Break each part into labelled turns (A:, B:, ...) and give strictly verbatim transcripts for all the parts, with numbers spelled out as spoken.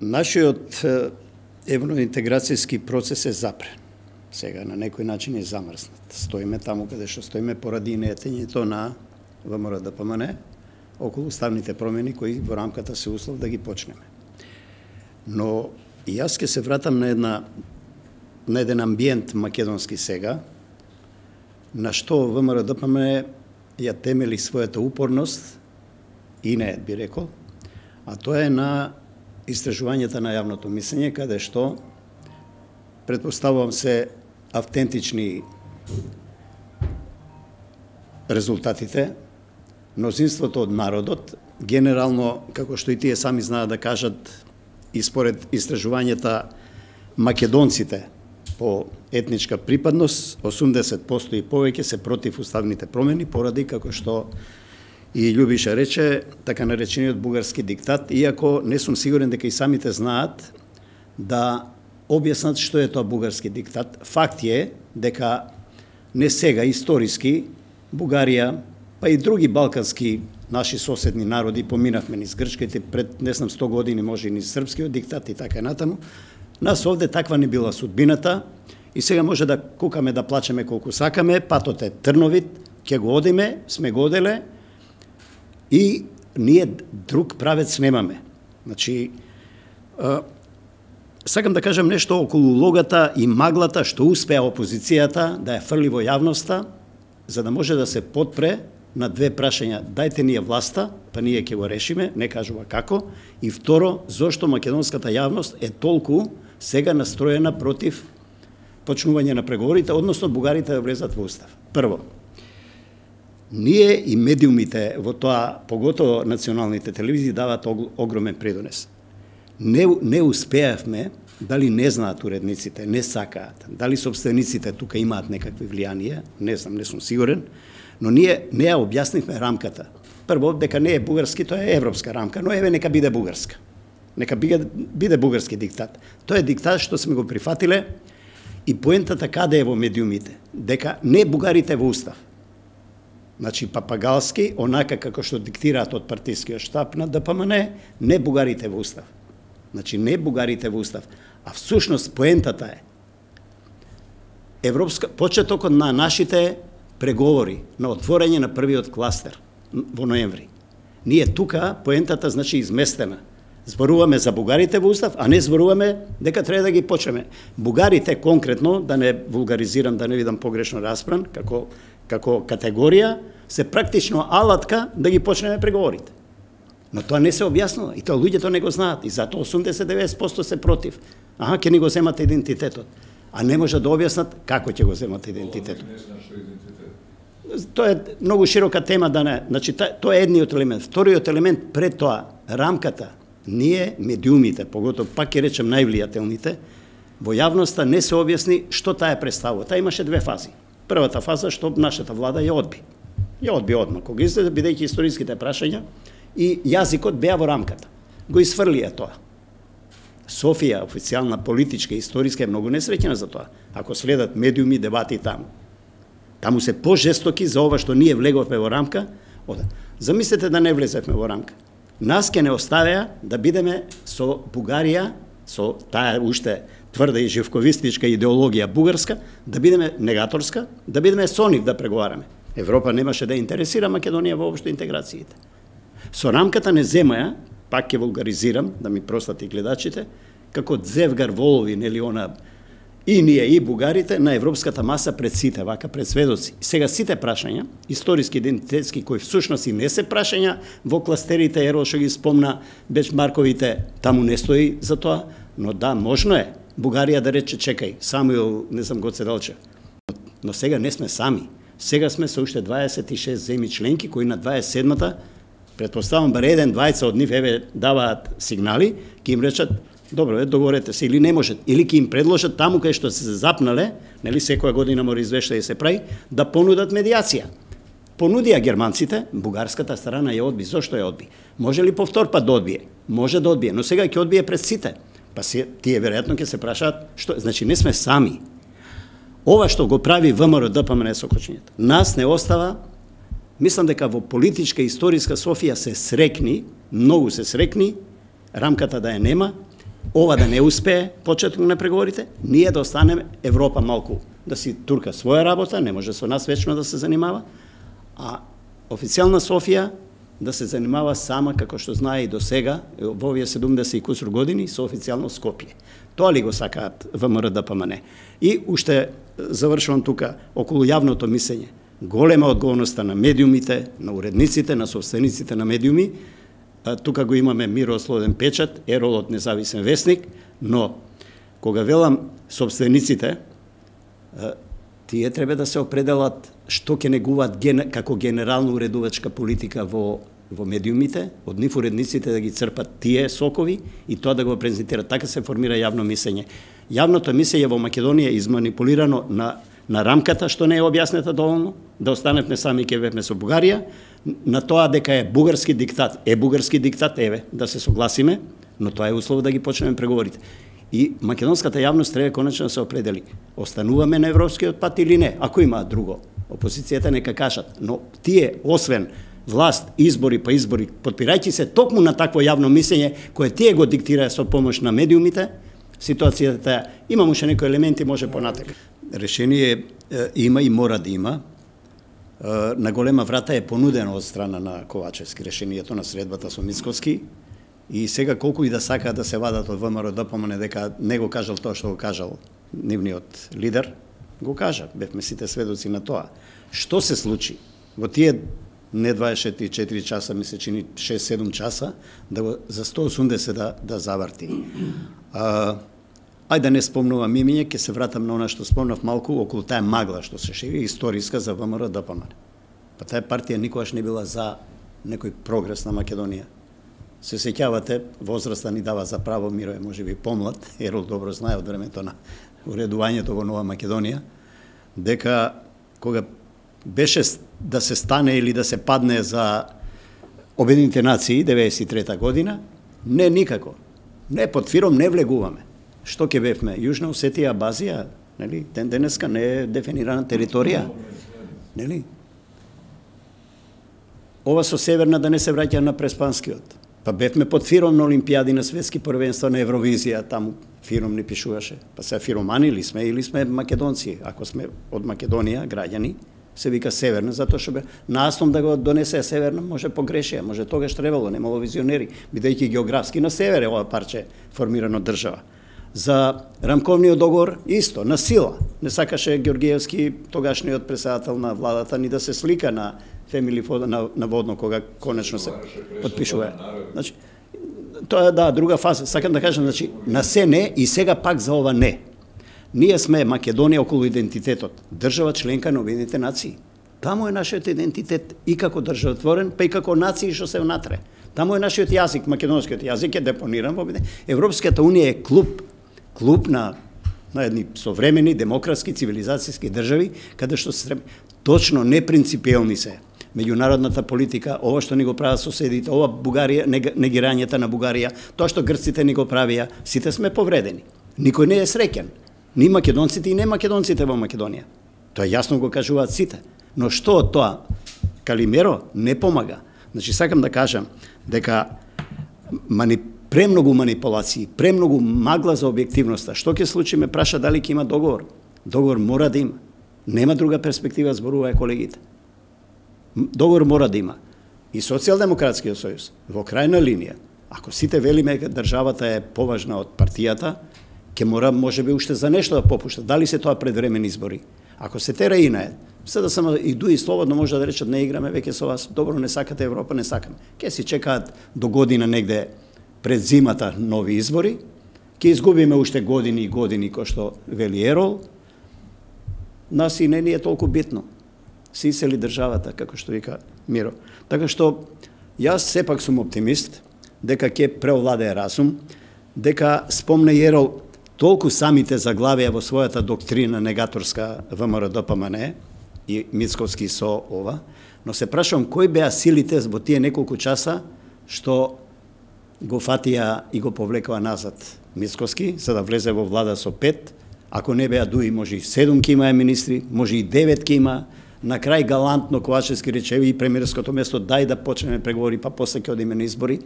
A: Нашиот евроинтеграцијски процес е запрен. Сега на некој начин е замрзнат. Стоиме таму каде што стоиме поради неетењето на ВМРО-ДПМН околу уставните промени кои во рамката се услов да ги почнеме. Но и јас ќе се вратам на една на еден амбиент македонски сега, на што ВМРО-ДПМН ја темели својата упорност и не, би рекол, а тоа е на истражувањата на јавното мислење, каде што претпоставувам се автентични резултатите, мнозинството од народот, генерално, како што и тие сами знаат да кажат, и според истражувањата македонците по етничка припадност, осумдесет проценти и повеќе се против уставните промени, поради, како што и Љубиша рече, така наречениот бугарски диктат, иако не сум сигурен дека и самите знаат да објаснат што е тоа бугарски диктат. Факт е дека не сега, историски, Бугарија, па и други балкански наши соседни народи, поминавме низ грчките пред, не знам, сто години, може и низ српскиот диктат и така натаму. Нас овде таква не била судбината и сега може да кукаме, да плачеме колку сакаме, патот е трновит, ќе го одиме, сме го оделе и ние друг правец немаме. Значи, а, сакам да кажам нешто околу логата и маглата што успеа опозицијата да ја фрли во јавноста, за да може да се подпре на две прашања. Дајте ние власта, па ние ќе го решиме, не кажува како. И второ, зошто македонската јавност е толку сега настроена против почнување на преговорите, односно бугарите да влезат во устав. Прво, ние и медиумите во тоа, поготово националните телевизии, дават огромен предонес. Не, не успеавме, дали не знаат уредниците, не сакаат, дали собствениците тука имаат некакви влијанија, не знам, не сум сигурен, но ние не ја објаснивме рамката. Прво, дека не е бугарски, тоа е европска рамка, но еве нека биде бугарска. Нека биде, биде бугарски диктат. Тоа е диктат што сме го прифатиле и поентата каде е во медиумите, дека не бугарите во устав. Значи, папагалски, онака како што диктираат од партискиот штаб на ДПМН, не бугарите во устав. Значи, не бугарите во устав. А всушност поентата е европска, почетокот на нашите преговори, на отворање на првиот кластер во ноември. Ние тука, поентата значи изместена. Зборуваме за бугарите во устав, а не зборуваме дека треба да ги почнеме. Бугарите конкретно, да не вулгаризирам, да не видам погрешно распран, како, како категорија, се практично алатка да ги почнеме преговорите. Но тоа не се објаснува и тоа луѓето не го знаат и затоа осумдесет до деветдесет проценти се против. Аха, ќе ни го земат идентитетот. А не може да објаснат како ќе го земат идентитетот. Тоа е многу широка тема, да не. Значи, тоа е едниот елемент. Вториот елемент пред тоа, рамката. Ние, медиумите, поготово пак ќе речем највлијателните, во јавноста не се објасни што таа е представува. Таа имаше две фази. Првата фаза што нашата влада ја одби. Ја одби одма, кога излезе, бидејќи историските прашања и јазикот беа во рамката. Го изфрлија тоа. Софија, официјална, политичка, историска, е многу несреќена за тоа. Ако следат медиуми, дебати таму. Таму се пожестоки за ова што ние влеговме во рамка. Ода. Замислете да не влезевме во рамка. Нас ке не оставеа да бидеме со Бугарија, со таа уште тврда и живковистичка идеологија бугарска, да бидеме негаторска, да бидеме со нив да преговараме. Европа немаше да интересира Македонија воопшто интеграциите. Со рамката не земаја, пак ќе вулгаризирам, да ми простат и гледачите, како дзевгар волови, нели она, и ние и бугарите на европската маса пред сите, вака пред сведоци. Сега сите прашања, историски, идентитетски, кои всушност и не се прашања во кластерите, еро што ги спомна бенчмарковите, таму не стои за тоа, но да, можно е Бугарија да рече, чекај, Самуил, не знам, Гоце Делчев. Но сега не сме сами. Сега сме со уште дваесет и шест земји членки, кои на дваесет и седмата, претпоставам, бар еден, двајца од нив, еве, даваат сигнали, ќе им речат, добро, е, договорете се, или не можат, или ќе им предложат таму кај што се запнале, нели секоја година мора извештај да се прави, да понудат медијација. Понудија германците, бугарската страна ја одби. Зошто ја одби? Може ли повтор пат да одбие? Може да одбие, но сега ќе одбие пред сите. Па се, тие веројатно ќе се прашаат, што, значи не сме сами. Ова што го прави ВМРО-ДПМН со кочињата, нас не остава. Мислам дека во политичка и историска Софија се срекни, многу се срекни, рамката да ја нема, ова да не успее, почеток на преговорите, ние да останеме Европа малку да си турка своја работа, не може со нас вечно да се занимава, а официјална Софија да се занимава сама, како што знае и до сега, во овие седумдесет и кусур години, со официјално Скопје. Тоа ли го сакаат ВМРО-ДПМН? И уште завршувам тука, околу јавното мислење. Голема одговорноста на медиумите, на уредниците, на собствениците на медиуми. Тука го имаме Миро Слоден печат, Ерол од Независен вестник, но кога велам собствениците, тие треба да се определат што ќе негуваат ген, како генерално уредувачка политика во во медиумите, од нив уредниците да ги црпат тие сокови и тоа да го презентираат. Така се формира јавно мислење. Јавното мислење во Македонија е изманипулирано на на рамката што не е објаснета доволно, да останевме сами ке бевме со Бугарија, на тоа дека е бугарски диктат, е бугарски диктат, еве, да се согласиме, но тоа е услов да ги почнеме преговорите. И македонската јавност треба конечно да се определи. Остануваме на европскиот пат или не? Ако има друго, опозицијата нека кажат, но тие, освен власт, избори па избори, подпирајќи се токму на такво јавно мислење, кое тие го диктираа со помош на медиумите, ситуацијата има уште некои елементи, може понатака. Решение е, има и мора да има. Е, на голема врата е понудено од страна на Ковачевски решението на средбата со Мицковски. И сега колку и да сака да се вадат од ВМРО-ДПМН дека не го кажал тоа што го кажал нивниот лидер, го кажа. Бевме сите сведоци на тоа. Што се случи во тие не дваесет и четири часа, ми се чини шест-седум часа, да го за сто и осумдесет да, да заврти. А, ајде да не спомнувам имиње, ќе се вратам на она што спомнав малку околу таа магла што се шири, историска за ВМРО-ДПМН. Па таа партија никогаш не била за некој прогрес на Македонија. Се сеќавате, возраста ни дава за право, Миро е можеби помлад, Ерол добро знае од времето на уредувањето во Нова Македонија, дека кога беше да се стане или да се падне за Обединените нации деветдесет и трета година, не никако. Не под фиром не влегуваме. Што ќе бевме? Јужна Осетија, Абазија, нели? Ден денеска не е дефинирана територија. Нели? Ова со Северна да не се враќа на Преспанскиот. Па бевме под фиром на Олимпијади, на светски првенства, на Евровизија, таму фиром не пишуваше. Па се фиромани ли сме или сме македонци? Ако сме од Македонија, граѓани, се вика Северна, затоа што бе наастом да го донесе Северна, може погрешија, може тогаш требало, немало визионери, бидејќи географски на север е ова парче формирано држава. За рамковниот договор исто, на сила. Не сакаше Георгиевски, тогашниот председател на владата, ни да се слика на Фемили Фода на, на водно кога конечно се подпишува. Значи, тоа е да друга фаза. Сакам да кажам, значи на се не и сега пак за ова не. Ние сме Македонија околу идентитетот, држава членка на Обединетите нации. Таму е нашиот идентитет и како државотворен, па и како нации што се внатре. Таму е нашиот јазик, македонскиот јазик е депониран во Европската унија е клуб, клуб на на едни современи демократски цивилизацијски држави, каде што се точно непринципиелни се меѓународната политика, ова што ни го прават соседите, ова Бугарија, негирањето на Бугарија, тоа што грците ни го правија, сите сме повредени. Никој не е среќен. Ни македонците и не македонците во Македонија. Тоа јасно го кажуваат сите. Но што од тоа? Калимеро не помага. Значи, сакам да кажам дека мани, премногу манипулации, премногу магла за објективноста. Што ќе случи, ме праша дали ќе има договор. Договор мора да има. Нема друга перспектива, зборуваја колегите. Договор мора да има. И Социјалдемократскиот сојуз, во крајна линија, ако сите велиме државата е поважна од партијата, ќе мора можеби уште за нешто да попушта. Дали се тоа предвремени избори? Ако се тера и наед, се да само и дуи слободно може да речат не играме веќе со вас, добро не сакате Европа, не сакаме. Ке си чекаат до година негде пред зимата нови избори, ќе изгубиме уште години и години кој што вели Ерол. Нас и не ни е толку битно. Си исели државата, како што вика Миро. Така што јас сепак сум оптимист дека ќе преовладее разум, дека спомне Ерол толку самите заглавија во својата доктрина негаторска ВМРО-ДПМН и Мицковски со ова, но се прашувам кои беа силите во тие неколку часа што го фатија и го повлекува назад Мицковски, за да влезе во влада со пет, ако не беа дуи, може и седум ке имаа министри, може и девет ке има. На крај галантно Ковачевски рече и премиерското место дај да почнеме преговори, па после ќе одиме на избори.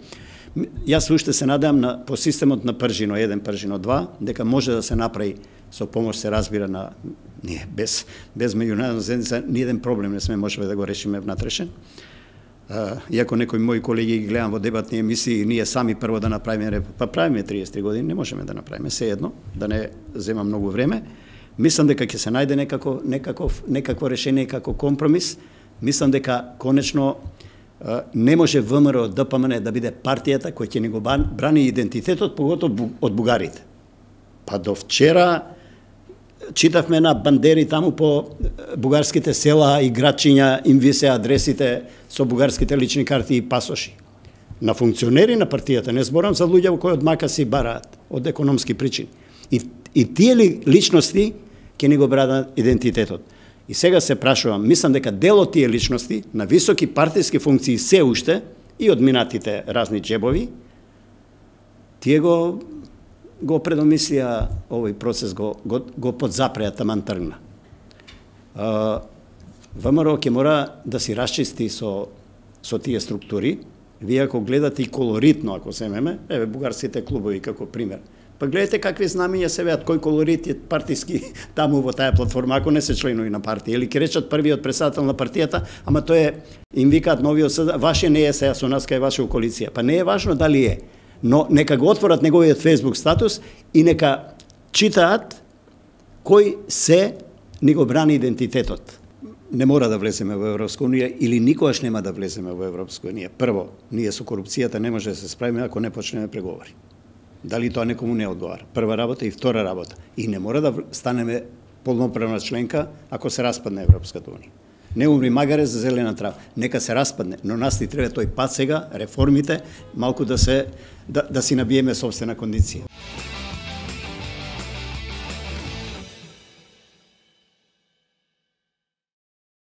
A: Јас уште се надевам на по системот на Пржино еден, Пржино два, дека може да се направи со помош, се разбира, на ние без без меѓународна заедница ни еден проблем не сме можеле да го решиме внатрешен. Иако некои мои колеги ги гледам во дебатни емисии, ние сами прво да направиме, па правиме триесет и три години, не можеме да направиме, се едно, да не зема многу време. Мислам дека ќе се најде некако, некаков, некакво решение, како компромис. Мислам дека конечно не може ВМРО ДПМН да биде партијата која ќе ни го брани идентитетот, поготово од бугарите. Па до вчера читавме на бандери таму по бугарските села и градчиња, им висе адресите со бугарските лични карти и пасоши. На функционери на партијата, не зборам за луѓе кои од мака си бараат, од економски причини. И, и тие ли личности ќе ни го бранат идентитетот. И сега се прашувам, мислам дека дел од тие личности на високи партиски функции се уште и од минатите разни джебови, тие го го предомислија овој процес, го, го, го подзапреа, таман тргна. ВМРО ќе мора да си расчисти со, со тие структури. Вие ако гледате и колоритно, ако земеме, еве бугарските клубови како пример, па гледате какви знамења се веат, кој колорит е партиски таму во таа платформа, ако не се членови на партија, или ќе речат првиот председател на партијата, ама тој е, им викаат новиот СД, ваше не е сега со нас кај ваша коалиција. Па не е важно дали е, но нека го отворат неговиот Facebook статус и нека читаат кој се ни го брани идентитетот. Не мора да влеземе во Европска унија или никогаш нема да влеземе во Европска унија. Прво, ние со корупцијата не може да се справиме ако не почнеме преговори. Дали тоа некому не одговара. Прва работа и втора работа. И не мора да станеме полноправна членка ако се распадне Европската унија. Не умри магаре за зелена трава. Нека се распадне, но нас ни треба тој пат сега, реформите, малку да се да, да си набиеме собствена кондиција.